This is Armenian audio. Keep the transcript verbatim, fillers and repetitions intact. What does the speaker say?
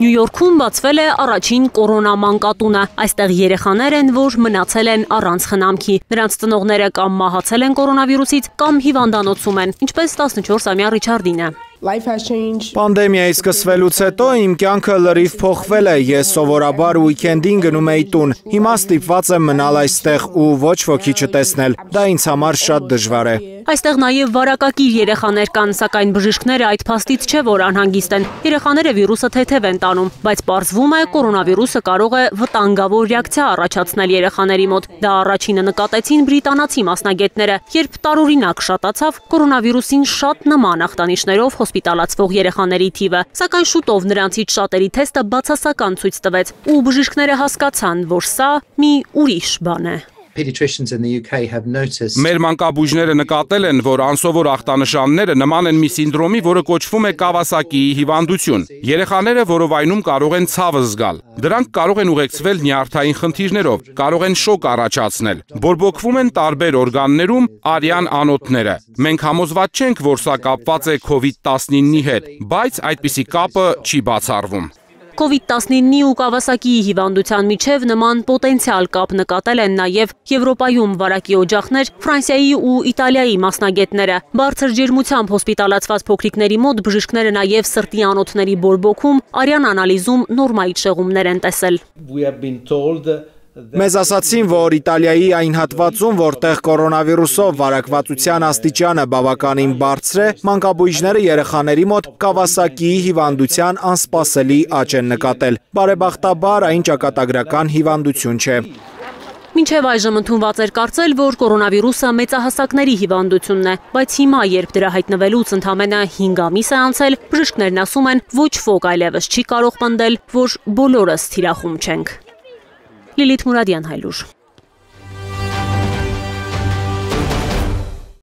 Նյու Յորքում բացվել է առաջին կորոնա մանկատունը։ Այստեղ երեխաներ են, որ մնացել են առանց խնամքի։ Նրանց ծնողները կամ մահացել են կորոնավիրուսից, կամ հիվանդանոցում են, ինչպես տասնչորսամյա Ռիչարդինը։ Պանդեմիայի սկսվելուց հետո իմ կյանքը լրիվ փոխվել է, ես սովորաբար ուիկենդին գնում էի տուն, հիմա ստիպված եմ մնալ այստեղ ու ոչ ոքի չտեսնել, դա ինձ համար շատ դժվար է։ Այստեղ նաև վարակակիր երեխաներ կան, սակայն բժիշկները այդ փաստից չէ, որ անհանգիստ են։ Երեխաները վիրուսը թեթև են տանում, բայց պարզվում է, կորոնավիրուսը կարող է վտանգավոր ռեակցիա առաջացնել երեխաների մոտ։ Դա առաջինը նկատեցին բրիտանացի մասնագետները, երբ տարօրինակ շատացավ կորոնավիրուսին շատ նման ախտանիշներով հոսպիտալացվող երեխաների թիվը, սակայն շուտով նրանցից շատերի թեստը բացասական ցույց տվեց, ու բժիշկները հասկացան, որ սա մի ուրիշ բան է։ Մեր մանկաբույժները նկատել են, որ անսովոր ախտանշանները նման են մի սինդրոմի, որը կոչվում է Կավասակիի հիվանդություն։ Երեխաները որովայնում կարող են ցավը զգալ։ Դրանք կարող են ուղեկցվել նյարդային խնդիրներով, կարող են շոկ առաջացնել։ Բորբոքվում են տարբեր օրգաններում արյան անոթները։ Մենք համոզված չենք, որ սա կապված է քովիդ տասնինի հետ, բայց այդպիսի կապը չի բացառվում։ քովիդ տասնինի ու Կավասակիի հիվանդության միջև նման պոտենցիալ կապ նկատել են նաև Եվրոպայում վարակի օջախներ, Ֆրանսիայի ու Իտալիայի մասնագետները։ Բարձր ջերմությամբ հոսպիտալացված փոքրիկների մոտ բժիշկները նաև սրտի անոթների բորբոքում, արյան անալիզում նորմայից շեղումներ են տեսել։ Մեզ ասացին, որ Իտալիայի այն հատվածում, որտեղ կորոնավիրուսով վարակվածության աստիճանը բավականին բարձր է, մանկաբույժները երեխաների մոտ Կավասակիի հիվանդության անսպասելի աճ են նկատել։ Բարեբախտաբար այն ճակատագրական հիվանդություն չէ։ Մինչև այժմ ընդունված էր կարծել, որ կորոնավիրուսը մեծահասակների հիվանդությունն է, բայց հիմա, երբ դրա հայտնվելուց ընդամենը հինգ ամիս է անցել, բժիշկներն ասում են, ոչ ոք այլևս չի կարող պնդել, որ բոլորս թիրախում չենք։ Լիլիթ Մուրադյան, Հայլուր։